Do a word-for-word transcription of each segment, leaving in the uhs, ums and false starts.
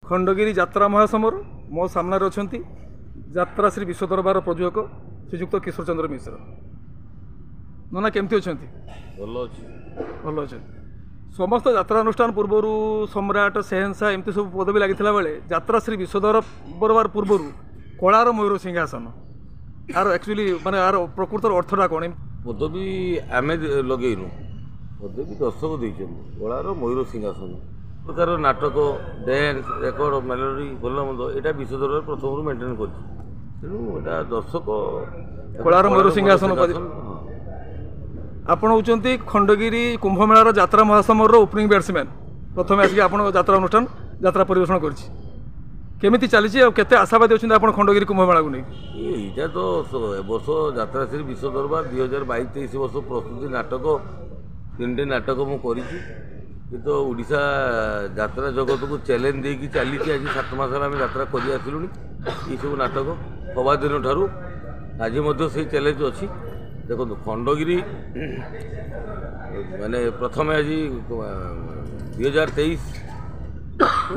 ଖଣ୍ଡଗିରି ଯାତ୍ରା ମହାସମର ମୋ ସାମ୍ନାରେ ଅଛନ୍ତି ଯାତ୍ରା ଶ୍ରୀ ବିଶ୍ୱ ଦରବାର ପ୍ରଯୋଜକ ଶ୍ରୀଯୁକ୍ତ କିଶୋର ଚନ୍ଦ୍ର ମିଶ୍ର। ନନା, କେମିତି ଅଛନ୍ତି? ଭଲ ଅଛି। ଭଲ ଅଛନ୍ତି। ସମସ୍ତ ଯାତ୍ରା ଅନୁଷ୍ଠାନ ପୂର୍ବରୁ ସମ୍ରାଟ, ସେହେନ୍ସା ଏମିତି ସବୁ ପଦବୀ ଲାଗିଥିଲା ବେଳେ ଯାତ୍ରା ଶ୍ରୀ ବିଶ୍ୱ ଦରବାର ପୂର୍ବରୁ କଳାର ମୟୂର ସିଂହାସନ, ଆର ଆକ୍ଚୁଆଲି ମାନେ ଆର ପ୍ରକୃତର ଅର୍ଥଟା କ'ଣ? ପଦବୀ ଆମେ ଲଗେଇନୁ, ପଦବୀ ଦର୍ଶକ ଦେଇଛନ୍ତି। କଳାର ମୟୂର ସିଂହାସନ ପ୍ରକାର ନାଟକ, ଡ୍ୟାନ୍ସ, ରେକର୍ଡ, ମେଲୋଡି, ଭଲ ମନ୍ଦ, ଏଇଟା ବିଶ୍ୱ ଦରବାର ପ୍ରଥମରୁ ମେଣ୍ଟେନ୍ କରିଛି। ତେଣୁ ଏଇଟା ଦର୍ଶକ କଳାର ମୟୂର ସିଂହାସନ ଉପାଧି। ହଁ। ଆପଣ ହେଉଛନ୍ତି ଖଣ୍ଡଗିରି କୁମ୍ଭମେଳାର ଯାତ୍ରା ମହାସମରର ଓପନିଂ ବ୍ୟାଟ୍ସମ୍ୟାନ୍। ପ୍ରଥମେ ଆସିକି ଆପଣଙ୍କ ଯାତ୍ରା ଅନୁଷ୍ଠାନ ଯାତ୍ରା ପରିବେଷଣ କରିଛି। କେମିତି ଚାଲିଛି ଆଉ କେତେ ଆଶାବାଦୀ ଅଛନ୍ତି ଆପଣ ଖଣ୍ଡଗିରି କୁମ୍ଭମେଳାକୁ ନେଇ? ଏଇଟା ତ ଏ ବର୍ଷ ଯାତ୍ରା ଶ୍ରୀ ବିଶ୍ୱ ଦରବାର ଦୁଇ ହଜାର ବାଇଶ ତେଇଶ ବର୍ଷ ପ୍ରସ୍ତୁତି ନାଟକ, ତିନିଟି ନାଟକ ମୁଁ କରିଛି। ଏ ତ ଓଡ଼ିଶା ଯାତ୍ରା ଜଗତକୁ ଚ୍ୟାଲେଞ୍ଜ ଦେଇକି ଚାଲିଛି। ଆଜି ସାତ ମାସ ହେଲା ଆମେ ଯାତ୍ରା କରି ଆସିଲୁଣି। ଏଇସବୁ ନାଟକ ହବା ଦିନଠାରୁ ଆଜି ମଧ୍ୟ ସେଇ ଚ୍ୟାଲେଞ୍ଜ ଅଛି। ଦେଖନ୍ତୁ, ଖଣ୍ଡଗିରି ମାନେ ପ୍ରଥମେ ଆଜି ଦୁଇ ହଜାର ତେଇଶ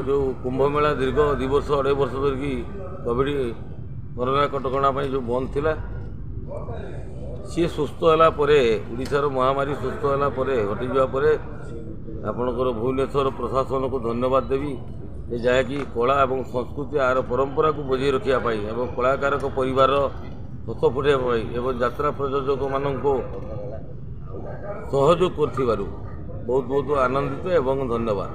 ଯେଉଁ କୁମ୍ଭମେଳା ଦୀର୍ଘ ଦୁଇ ବର୍ଷ ଅଢ଼େଇ ବର୍ଷ ଧରିକି କୋଭିଡ଼ କରୋନା କଟକଣା ପାଇଁ ଯେଉଁ ବନ୍ଦ ଥିଲା, ସିଏ ସୁସ୍ଥ ହେଲା ପରେ, ଓଡ଼ିଶାର ମହାମାରୀ ସୁସ୍ଥ ହେଲା ପରେ, ହଟିଯିବା ପରେ ଆପଣଙ୍କର ଭୁବନେଶ୍ୱର ପ୍ରଶାସନକୁ ଧନ୍ୟବାଦ ଦେବି ଯେ ଯାହାକି କଳା ଏବଂ ସଂସ୍କୃତି ଆର ପରମ୍ପରାକୁ ବଜାଇ ରଖିବା ପାଇଁ ଏବଂ କଳାକାରଙ୍କ ପରିବାର ହସ ଫୁଟାଇବା ପାଇଁ ଏବଂ ଯାତ୍ରା ପ୍ରଯୋଜକମାନଙ୍କୁ ସହଯୋଗ କରିଥିବାରୁ ବହୁତ ବହୁତ ଆନନ୍ଦିତ ଏବଂ ଧନ୍ୟବାଦ।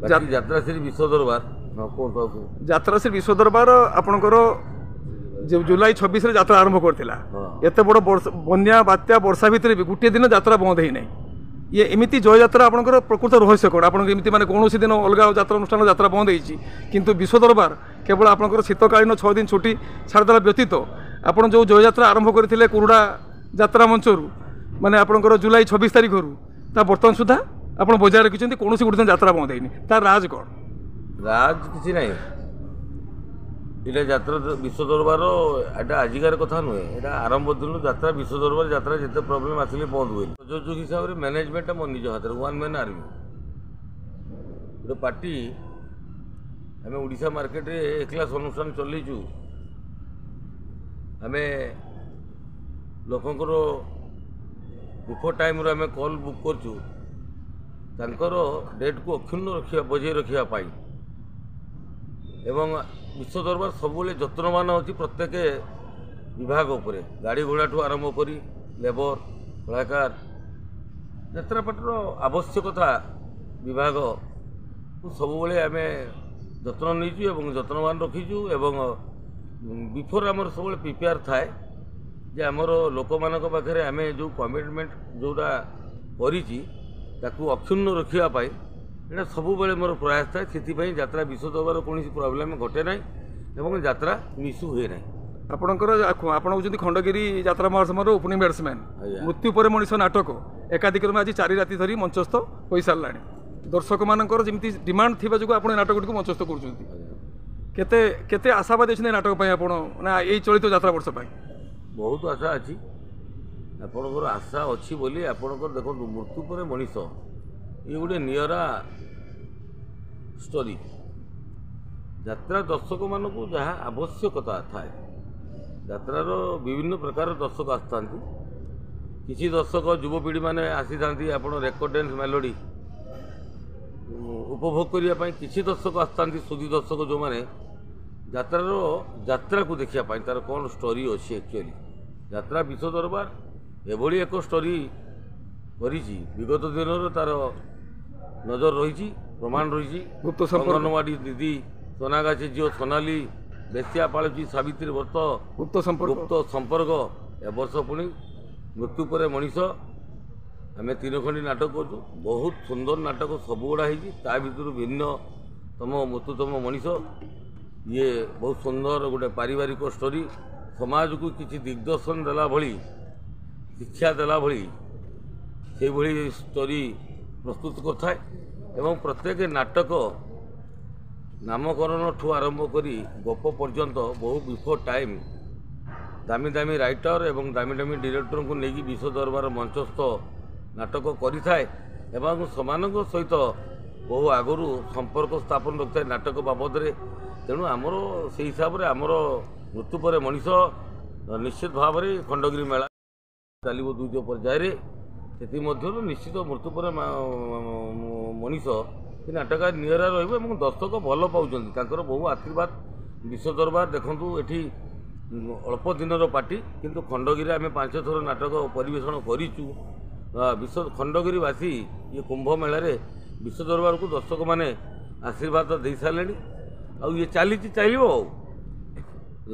ବାକି ଯାତ୍ରା ଶ୍ରୀ ବିଶ୍ୱ ଦରବାର, ହଁ, କୁହନ୍ତୁ ଆଉ। ଯାତ୍ରା ଶ୍ରୀ ବିଶ୍ୱ ଦରବାର ଆପଣଙ୍କର ଯେଉଁ ଜୁଲାଇ ଛବିଶରେ ଯାତ୍ରା ଆରମ୍ଭ କରିଥିଲା, ହଁ। ଏତେ ବଡ଼ ବନ୍ୟା, ବାତ୍ୟା, ବର୍ଷା ଭିତରେ ବି ଗୋଟିଏ ଦିନ ଯାତ୍ରା ବନ୍ଦ ହେଇନାହିଁ। ଇଏ ଏମିତି ଜୟଯାତ୍ରା ଆପଣଙ୍କର ପ୍ରକୃତ ରହସ୍ୟ କ'ଣ? ଆପଣଙ୍କ ଏମିତି ମାନେ କୌଣସି ଦିନ ଅଲଗା ଯାତ୍ରା ଅନୁଷ୍ଠାନ ଯାତ୍ରା ବନ୍ଦ ହେଇଛି, କିନ୍ତୁ ବିଶ୍ୱ ଦରବାର କେବଳ ଆପଣଙ୍କର ଶୀତକାଳୀନ ଛଅ ଦିନ ଛୁଟି ଛାଡ଼ିଦେଲା ବ୍ୟତୀତ ଆପଣ ଯେଉଁ ଜୟଯାତ୍ରା ଆରମ୍ଭ କରିଥିଲେ କୁରୁଡ଼ା ଯାତ୍ରା ମଞ୍ଚରୁ, ମାନେ ଆପଣଙ୍କର ଜୁଲାଇ ଛବିଶ ତାରିଖରୁ, ତା ବର୍ତ୍ତମାନ ସୁଦ୍ଧା ଆପଣ ବଜାୟ ରଖିଛନ୍ତି, କୌଣସି ଗୋଟେ ଦିନ ଯାତ୍ରା ବନ୍ଦ ହେଇନି, ତାର ରାଜ କ'ଣ? ରାଜ କିଛି ନାହିଁ। ଏଇଟା ଯାତ୍ରା ବିଶ୍ୱ ଦରବାର, ଏଇଟା ଆଜିକାର କଥା ନୁହେଁ। ଏଇଟା ଆରମ୍ଭ ଦିନରୁ ଯାତ୍ରା ବିଶ୍ୱ ଦରବାର ଯାତ୍ରା ଯେତେ ପ୍ରୋବ୍ଲେମ୍ ଆସିଲେ ବନ୍ଦ ହୁଏନି। ପ୍ରଯୋଜକ ହିସାବରେ ମ୍ୟାନେଜମେଣ୍ଟଟା ମୋ ନିଜ ହାତରେ, ୱାନ୍ ମ୍ୟାନ୍ ଆର୍ମି ଗୋଟେ ପାର୍ଟି। ଆମେ ଓଡ଼ିଶା ମାର୍କେଟରେ ଏ କ୍ଲାସ୍ ଅନୁଷ୍ଠାନ ଚଲେଇଛୁ। ଆମେ ଲୋକଙ୍କର ବିଫୋର୍ ଟାଇମ୍ରୁ ଆମେ କଲ୍ ବୁକ୍ କରୁଛୁ ତାଙ୍କର ଡେଟ୍କୁ ଅକ୍ଷୁଣ୍ଣ ରଖିବା, ବଜାଇ ରଖିବା ପାଇଁ। ଏବଂ ବିଶ୍ୱ ଦରବାର ସବୁବେଳେ ଯତ୍ନବାନ ଅଛି ପ୍ରତ୍ୟେକ ବିଭାଗ ଉପରେ, ଗାଡ଼ି ଘୋଡ଼ାଠୁ ଆରମ୍ଭ କରି ଲେବର, କଳାକାର, ଯାତ୍ରାପାଟିର ଆବଶ୍ୟକତା ବିଭାଗକୁ ସବୁବେଳେ ଆମେ ଯତ୍ନ ନେଇଛୁ ଏବଂ ଯତ୍ନବାନ ରଖିଛୁ। ଏବଂ ବିଫୋର୍ ଆମର ସବୁବେଳେ ପ୍ରିପେୟାର ଥାଏ ଯେ ଆମର ଲୋକମାନଙ୍କ ପାଖରେ ଆମେ ଯେଉଁ କମିଟମେଣ୍ଟ ଯେଉଁଟା କରିଛି ତାକୁ ଅକ୍ଷୁଣ୍ଣ ରଖିବା ପାଇଁ ଏଇଟା ସବୁବେଳେ ମୋର ପ୍ରୟାସ ଥାଏ। ସେଥିପାଇଁ ଯାତ୍ରା ବିଶ୍ୱ ଦରବାର କୌଣସି ପ୍ରୋବ୍ଲେମ୍ ଘଟେ ନାହିଁ ଏବଂ ଯାତ୍ରା ମିସ୍ ହୁଏ ନାହିଁ। ଆପଣଙ୍କର, ଆପଣ ହେଉଛନ୍ତି ଖଣ୍ଡଗିରି ଯାତ୍ରା ମହାସମର ଓପନିଂ ବ୍ୟାଟ୍ସମ୍ୟାନ୍। ଆଜ୍ଞା। ମୃତ୍ୟୁ ପରେ ମଣିଷ ନାଟକ ଏକାଧିକ୍ରମେ ଆଜି ଚାରି ରାତି ଧରି ମଞ୍ଚସ୍ଥ ହୋଇସାରିଲାଣି। ଦର୍ଶକମାନଙ୍କର ଯେମିତି ଡିମାଣ୍ଡ ଥିବା ଯୋଗୁଁ ଆପଣ ଏ ନାଟକଟିକୁ ମଞ୍ଚସ୍ଥ କରୁଛନ୍ତି। କେତେ କେତେ ଆଶାବାଦୀ ଅଛନ୍ତି ଏ ନାଟକ ପାଇଁ ଆପଣ ନା ଏଇ ଚଳିତ ଯାତ୍ରା ବର୍ଷ ପାଇଁ? ବହୁତ ଆଶା ଅଛି। ଆପଣଙ୍କର ଆଶା ଅଛି ବୋଲି ଆପଣଙ୍କର, ଦେଖନ୍ତୁ, ମୃତ୍ୟୁ ପରେ ମଣିଷ ଇଏ ଗୋଟେ ନିଆରା ଷ୍ଟୋରି। ଯାତ୍ରା ଦର୍ଶକମାନଙ୍କୁ ଯାହା ଆବଶ୍ୟକତା ଥାଏ, ଯାତ୍ରାର ବିଭିନ୍ନ ପ୍ରକାର ଦର୍ଶକ ଆସିଥାନ୍ତି। କିଛି ଦର୍ଶକ ଯୁବପିଢ଼ିମାନେ ଆସିଥାନ୍ତି ଆପଣ ରେକର୍ଡ ଡ୍ୟାନ୍ସ, ମେଲୋଡ଼ି ଉପଭୋଗ କରିବା ପାଇଁ। କିଛି ଦର୍ଶକ ଆସିଥାନ୍ତି ସୁଧୀ ଦର୍ଶକ, ଯେଉଁମାନେ ଯାତ୍ରାର ଯାତ୍ରାକୁ ଦେଖିବା ପାଇଁ, ତା'ର କ'ଣ ଷ୍ଟୋରି ଅଛି। ଆକ୍ଚୁଆଲି ଯାତ୍ରା ବିଶ୍ୱ ଦରବାର ଏଭଳି ଏକ ଷ୍ଟୋରି କରିଛି, ବିଗତ ଦିନର ତା'ର ନଜର ରହିଛି, ପ୍ରମାଣ ରହିଛି। ଗୁପ୍ତ ସମ୍ପର୍କ, ଅଙ୍ଗନବାଡ଼ି ଦିଦି, ସୋନାଗାଛି ଝିଅ ସୋନାଲି, ବେଶ୍ୟା ପାଳୁଛି ସାବିତ୍ରୀ ବ୍ରତ, ଗୁପ୍ତ ସମ୍ପର୍କ, ଗୁପ୍ତ ସମ୍ପର୍କ। ଏ ବର୍ଷ ପୁଣି ମୃତ୍ୟୁ ପରେ ମଣିଷ, ଆମେ ତିନି ଖଣ୍ଡି ନାଟକ କରୁଛୁ। ବହୁତ ସୁନ୍ଦର ନାଟକ ସବୁଗୁଡ଼ା ହେଇଛି। ତା ଭିତରୁ ଭିନ୍ନ ତମ ମୃତ୍ୟୁତମ ମଣିଷ, ଇଏ ବହୁତ ସୁନ୍ଦର ଗୋଟେ ପାରିବାରିକ ଷ୍ଟୋରି, ସମାଜକୁ କିଛି ଦିଗ୍ଦର୍ଶନ ଦେଲା ଭଳି, ଶିକ୍ଷା ଦେଲା ଭଳି ସେଇଭଳି ଷ୍ଟୋରି ପ୍ରସ୍ତୁତ କରିଥାଏ। ଏବଂ ପ୍ରତ୍ୟେକ ନାଟକ ନାମକରଣଠୁ ଆରମ୍ଭ କରି ଗପ ପର୍ଯ୍ୟନ୍ତ ବହୁ ବିଫୋର୍ ଟାଇମ୍ ଦାମୀ ଦାମୀ ରାଇଟର ଏବଂ ଦାମୀ ଦାମୀ ଡିରେକ୍ଟରଙ୍କୁ ନେଇକି ବିଶ୍ୱ ଦରବାର ମଞ୍ଚସ୍ଥ ନାଟକ କରିଥାଏ ଏବଂ ସେମାନଙ୍କ ସହିତ ବହୁ ଆଗରୁ ସମ୍ପର୍କ ସ୍ଥାପନ ରଖିଥାଏ ନାଟକ ବାବଦରେ। ତେଣୁ ଆମର ସେଇ ହିସାବରେ ଆମର ମୃତ୍ୟୁ ପରେ ମଣିଷ ନିଶ୍ଚିତ ଭାବରେ ଖଣ୍ଡଗିରି ମେଳା ଚାଲିବ ଦ୍ୱିତୀୟ ପର୍ଯ୍ୟାୟରେ। ସେଥିମଧ୍ୟରୁ ନିଶ୍ଚିତ ମୃତ୍ୟୁ ପରେ ମଣିଷ ସେ ନାଟକ ନିଆରା ରହିବ ଏବଂ ଦର୍ଶକ ଭଲ ପାଉଛନ୍ତି, ତାଙ୍କର ବହୁ ଆଶୀର୍ବାଦ। ବିଶ୍ୱ ଦରବାର ଦେଖନ୍ତୁ, ଏଠି ଅଳ୍ପ ଦିନର ପାର୍ଟି, କିନ୍ତୁ ଖଣ୍ଡଗିରିରେ ଆମେ ପାଞ୍ଚ ଥର ନାଟକ ପରିବେଷଣ କରିଛୁ। ବିଶ୍ୱ ଖଣ୍ଡଗିରିବାସୀ ଇଏ କୁମ୍ଭ ମେଳାରେ ବିଶ୍ୱ ଦରବାରକୁ ଦର୍ଶକମାନେ ଆଶୀର୍ବାଦ ଦେଇସାରିଲେଣି, ଆଉ ଇଏ ଚାଲିଛି, ଚାଲିବ। ଆଉ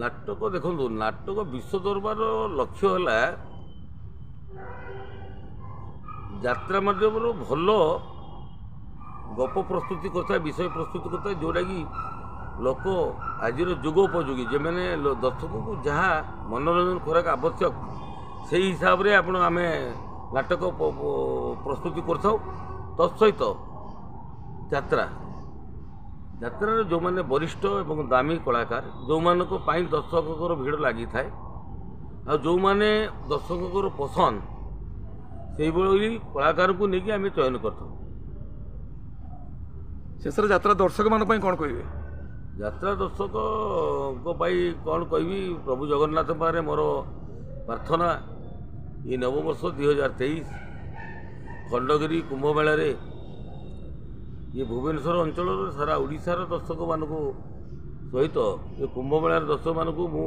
ନାଟକ ଦେଖନ୍ତୁ, ନାଟକ ବିଶ୍ୱ ଦରବାରର ଲକ୍ଷ୍ୟ ହେଲା ଯାତ୍ରା ମାଧ୍ୟମରୁ ଭଲ ଗପ ପ୍ରସ୍ତୁତି କରିଥାଏ, ବିଷୟ ପ୍ରସ୍ତୁତି କରିଥାଏ, ଯେଉଁଟାକି ଲୋକ ଆଜିର ଯୁଗ ଉପଯୋଗୀ, ଯେଉଁମାନେ ଦର୍ଶକଙ୍କୁ ଯାହା ମନୋରଞ୍ଜନ ଖୋରାକ ଆବଶ୍ୟକ ସେଇ ହିସାବରେ ଆପଣ ଆମେ ନାଟକ ପ୍ରସ୍ତୁତି କରିଥାଉ। ତତ୍ସହିତ ଯାତ୍ରା ଯାତ୍ରାରେ ଯେଉଁମାନେ ବରିଷ୍ଠ ଏବଂ ଦାମୀ କଳାକାର, ଯେଉଁମାନଙ୍କ ପାଇଁ ଦର୍ଶକଙ୍କର ଭିଡ଼ ଲାଗିଥାଏ ଆଉ ଯେଉଁମାନେ ଦର୍ଶକଙ୍କର ପସନ୍ଦ, ସେଇଭଳି କଳାକାରଙ୍କୁ ନେଇକି ଆମେ ଚୟନ କରିଥାଉ। ଶେଷରେ ଯାତ୍ରା ଦର୍ଶକମାନଙ୍କ ପାଇଁ କ'ଣ କହିବେ? ଯାତ୍ରା ଦର୍ଶକଙ୍କ ପାଇଁ କ'ଣ କହିବି, ପ୍ରଭୁ ଜଗନ୍ନାଥ ପାଖରେ ମୋର ପ୍ରାର୍ଥନା, ଏ ନବବର୍ଷ ଦୁଇ ହଜାର ତେଇଶ ଖଣ୍ଡଗିରି କୁମ୍ଭମେଳାରେ ଇଏ ଭୁବନେଶ୍ୱର ଅଞ୍ଚଳର ସାରା ଓଡ଼ିଶାର ଦର୍ଶକମାନଙ୍କୁ ସହିତ ଏ କୁମ୍ଭମେଳାର ଦର୍ଶକମାନଙ୍କୁ ମୁଁ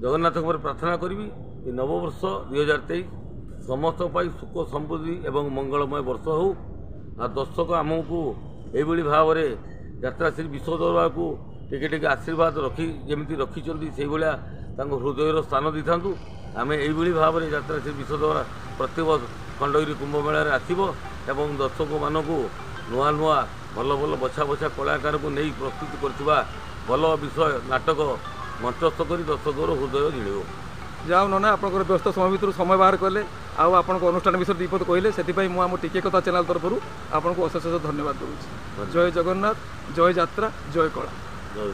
ଜଗନ୍ନାଥଙ୍କ ଉପରେ ପ୍ରାର୍ଥନା କରିବି, ଏ ନବବର୍ଷ ଦୁଇ ହଜାର ତେଇଶ ସମସ୍ତଙ୍କ ପାଇଁ ସୁଖ ସମୃଦ୍ଧି ଏବଂ ମଙ୍ଗଳମୟ ବର୍ଷ ହେଉ। ଆଉ ଦର୍ଶକ ଆମକୁ ଏଇଭଳି ଭାବରେ ଯାତ୍ରା ଶ୍ରୀ ବିଶ୍ୱ ଦରବାରକୁ ଟିକେ ଟିକେ ଆଶୀର୍ବାଦ ରଖି ଯେମିତି ରଖିଛନ୍ତି, ସେଇଭଳିଆ ତାଙ୍କ ହୃଦୟର ସ୍ଥାନ ଦେଇଥାନ୍ତୁ। ଆମେ ଏଇଭଳି ଭାବରେ ଯାତ୍ରା ଶ୍ରୀ ବିଶ୍ୱ ଦରବାର ପ୍ରତ୍ୟେକ ଖଣ୍ଡଗିରି କୁମ୍ଭମେଳାରେ ଆସିବ ଏବଂ ଦର୍ଶକମାନଙ୍କୁ ନୂଆ ନୂଆ ଭଲ ଭଲ ବଛା ବଛା କଳାକାରକୁ ନେଇ ପ୍ରସ୍ତୁତି କରିଥିବା ଭଲ ବିଷୟ ନାଟକ ମଞ୍ଚସ୍ଥ କରି ଦର୍ଶକର ହୃଦୟ ଜିଣିବ। ଯାଉ ନନା, ଆପଣଙ୍କର ବ୍ୟସ୍ତ ସମୟ ଭିତରୁ ସମୟ ବାହାର କଲେ ଆଉ ଆପଣଙ୍କ ଅନୁଷ୍ଠାନ ବିଷୟରେ ଦୁଇ ପଦ କହିଲେ, ସେଥିପାଇଁ ମୁଁ ଆମ ଟିକେ କଥା ଚ୍ୟାନେଲ୍ ତରଫରୁ ଆପଣଙ୍କୁ ଅଶେଷ ଅଶେଷ ଧନ୍ୟବାଦ ଦେଉଛି। ଜୟ ଜଗନ୍ନାଥ, ଜୟ ଯାତ୍ରା, ଜୟ କଳା। ଜୟ।